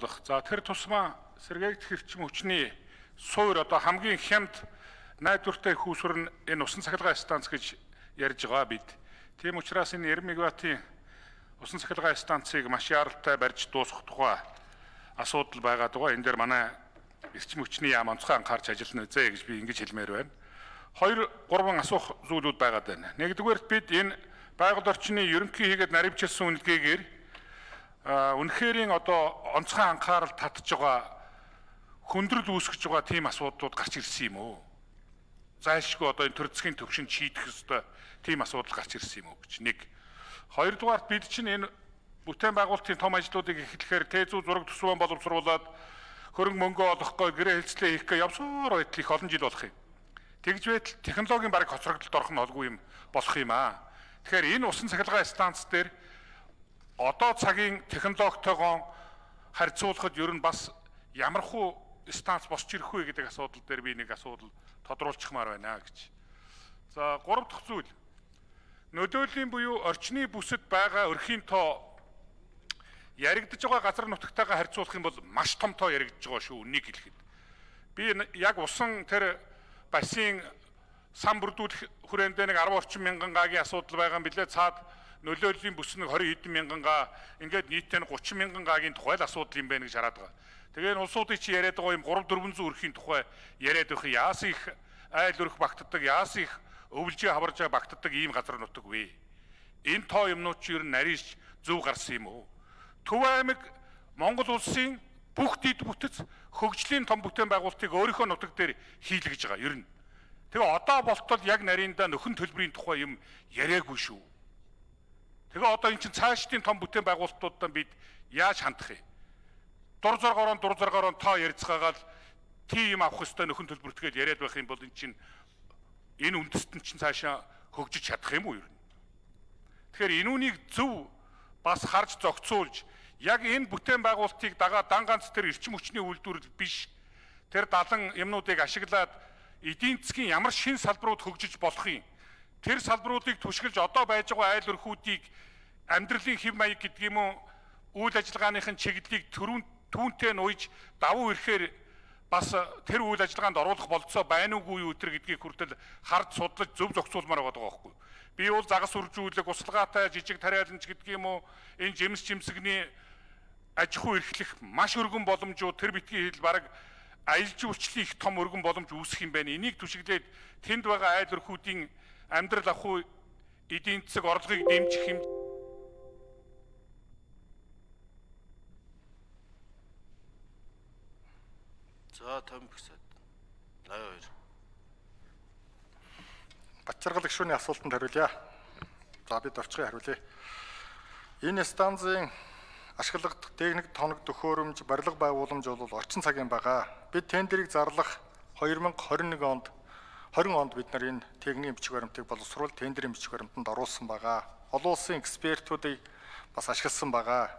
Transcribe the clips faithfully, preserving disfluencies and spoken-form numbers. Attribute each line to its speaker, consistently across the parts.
Speaker 1: За тэр тусмаа сэргээгдэх эрчим хүчний суур одоо хамгийн хямд найдвартай хүүсвэр нь энэ усан цахилгаан станц гэж ярьж байгаа бид. Тийм учраас энэ нэр мегаваттын усан цахилгаан станцыг маш яралтай барьж дуусгах тухай асуудал байгаа даа. Энэ дээр манай эрчим хүчний яам онцгой анхаарч ажиллана үзье гэж би ингэж хэлмээр байна. Хоёр гурван асуух зүйлүүд байгаад байна. Нэгдүгээрт бид энэ байгаль орчны ерөнхий хийгээд наривчилсан үнэлгээгээр үнэхэрийн одоо онцгой анхаарал татж байгаа хөндрөл үүсгэж байгаа тийм асуудлууд гарч ирсэн юм уу? Зайлшгүй одоо энэ төр засгийн төвшөнд шийдэх ёстой тийм асуудал гарч ирсэн юм уу гэж нэг. Хоёрдугаарт бид чинь энэ бүтээн байгуулалтын том ажлуудыг эхлэхээр тэзүү зураг төсвөн боловсруулад хөрөнгө мөнгө олохгүй гэрээ хэлцлээ хийх гээ явсаар байтал их олон жил болох юм. Тэгж байтал технологийн бараг хоцрогдолд орох нь олгүй юм болох юм аа. Тэгэхээр энэ усан цахилгаан станц дээр одоо цагийн технологитойгоо харьцуулахад ер нь бас ямархуу станц босч ирэх вэ гэдэг асуудал дээр би нэг асуудал тодруулчихмаар байна гэж. За гурав дахь зүйл. Нөлөөлийн буюу орчны бүсэд байгаа өрхийн тоо яригдж байгаа газар нутагтайгаа харьцуулах юм бол маш том тоо яригдж байгаа шүү үнийг хэлэхэд. Би яг усан тэр бассейн сан бүрдүүлэх хүрээндээ нэг арван орчим мянган гагийн асуудал байгаа юм билээ. Цаад нөлөөлийн бүс нэг двадцать хэдэн мянган га ингээд нийтдээ тридцать мянган гагийн тухай л асуудал юм байна гэж хараад байгаа. Тэгээ энэ улсуудыг чи яриад байгаа юм trois four hundred өрхийн тухай яриад байх яасан их айл өрх багтдаг, яасан их өвлжээ хаваржаа багтдаг ийм газар нутаг вэ? Энэ тоо юмнууд чи ер нь нарийш зөв гарсан юм уу? Төв аймаг Монгол улсын бүх дэд бүтэц хөгжлийн том бүтээн байгуулалтыг өөрийнхөө нутаг дээр хийлгэж байгаа ер нь. Тэгээ одоо болтол яг нарийнда нөхөн төлбөрийн тухай юм яриаггүй шүү. Тэгээ одоо эн чинь цаашдын том бүтээн байгуулалтуудаа бид яаж хандах вэ? Дур зоргоороо дур зоргоороо тоо ярьцгаагаад тийм авах хөстэй нөхөн төлбөртгээд яриад байх юм бол эн чинь энэ үндэстэн чинь цаашаа хөгжиж чадах юм уу ер нь? Тэгэхээр энүүнийг зөв бас харж зохицуулж яг энэ бүтээн байгуулалтыг дагаа дан ганц тэр эрчим хүчний үйлдвэрлэл биш тэр далан юмнуудыг ашиглаад эдийн засгийн ямар шин салбарууд хөгжиж болох юм? Тэр салбаруудыг түшгэлж одоо байж байгаа айл өрхүүдийг амьдралын хэв маяг гэдэг юм уу үйл ажиллагааныхын чиглэлийг түрүүн түүнтэй нуйж давуу ирэхээр бас тэр үйл ажиллагаанд оруулах болцоо байна уугүй юу өтер гэдгийг хүртэл харж судлаж зөв зохицуулмаар байгаа байхгүй. Би бол загас үржүүлэг, услгаатай жижиг тариаланч гэдэг юм уу энэ жимс жимсгний аж ахуй эрхлэх маш өргөн боломжууд тэр битгий хэл бараг аялал жуулчлалын их том өргөн боломж үүсэх юм байна. Энийг түшиглээд тэнд байгаа айл өрхүүдийн амьдрал ахуй эдийн засаг орлогыг дэмжих юм.
Speaker 2: За тамбигсад аяа хоёр.
Speaker 3: Бачаргал гишүүний асуултанд хариулъя. За бид орчгоо хариулъя. Энэ станцын ашиглагдах техник тоног төхөөрөмж, барилга байгууламж бол орчин цагийн байгаа. Бид тендерийг зарлах two thousand twenty-one онд twenty онд бид нар энэ техникийн бичиг баримтыг боловсруул тендерийн бичиг баримтанд оруулсан байгаа. Олон улсын экспертүүдийг бас ашигласан байгаа.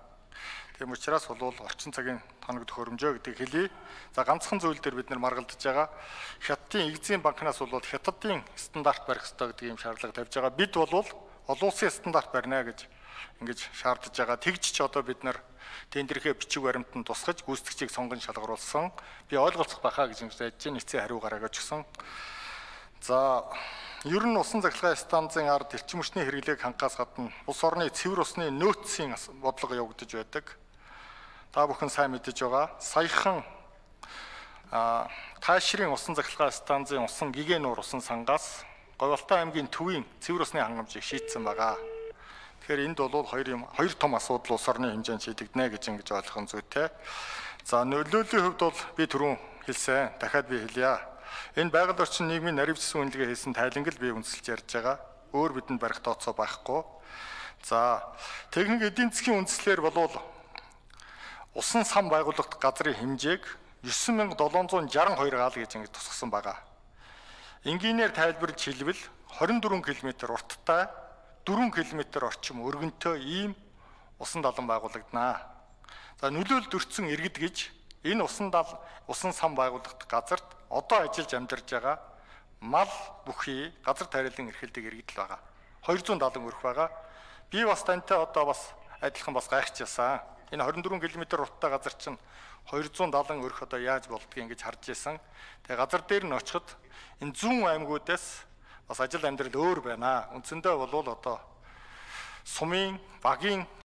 Speaker 3: Тийм учраас бол орчин цагийн тоног төхөөрөмжөө гэдгийг хэлье. За ганцхан зүйл дээр бид нар маргалдаж байгаа. Хятадын Эгзийн банкнаас бол хятадын стандарт барих ёстой гэдэг юм шаардлага тавьж байгаа. Бид бол олон улсын стандарт барина гэж ингэж шаардж байгаа. Тэгж ч одоо бид нар тендерийнхээ бичиг баримтанд тусгаж гүйцэтгэгчийг сонгон шалгаруулсан. Би ойлголцох байхаа гэж ингэж ярьж байна. Эцсийн хариу гаргаж өгсөн. За ер нь усан цахилгаан станцын ард эрчим хүчний хэрэглээг хангахаас гадна улс орны цэвэр усны нөөцийн бодлого явагдаж байдаг. Та бүхэн сайн мэдэж байгаа. Саяхан Таашрын усан цахилгаан станцын усан гигэн нуур усан сангаас Говьалтай аймгийн төвийн цэвэр усны хангамжийг шийдсэн байгаа. Тэгэхээр энд бол хоёр юм хоёр том асуудал улс орны хэмжээнд шийдэгдэнэ гэж ингэж ойлгох нь зүйтэй. За нөлөөлийн хувьд бол би түрүүн хэлсэн. Дахиад би хэлье. Энэ байгаль орчин нийгмийн наривчсан үнэлгээ хийсэн тайланг л би үнэлж ярьж байгаа. Өөр бидэнд барих тооцоо байхгүй. За техник эдийн засгийн үндслээр бол усан сан байгууллагт газрын хэмжээг nine thousand seven hundred sixty-two гаал гэж ингэж тусгасан байгаа. Энгийнээр тайлбарж хэлбэл twenty-four км урттай four км орчим өргөнтэй ийм усан далан байгуулагдана. За нөлөөлөлд өртсөн иргэд гэж энэ усан дал усан сан байгууллагт газарт одоо ажиллаж амьдарч байгаа мал бүхий газар тариалан эрхэлдэг иргэд л байгаа. two hundred seventy өрх байгаа. Би бас тантай одоо бас адилхан бас гайхчихсан. Энэ двадцать четыре км руттай газар чинь two seventy өрх одоо яаж болдгийг ингэж харж байсан. Тэгээ газар дээр нь очиход энэ зүүн аймагуудаас бас ажил амьдрал өөр байна. Үндсэндээ бол одоо сумын багийн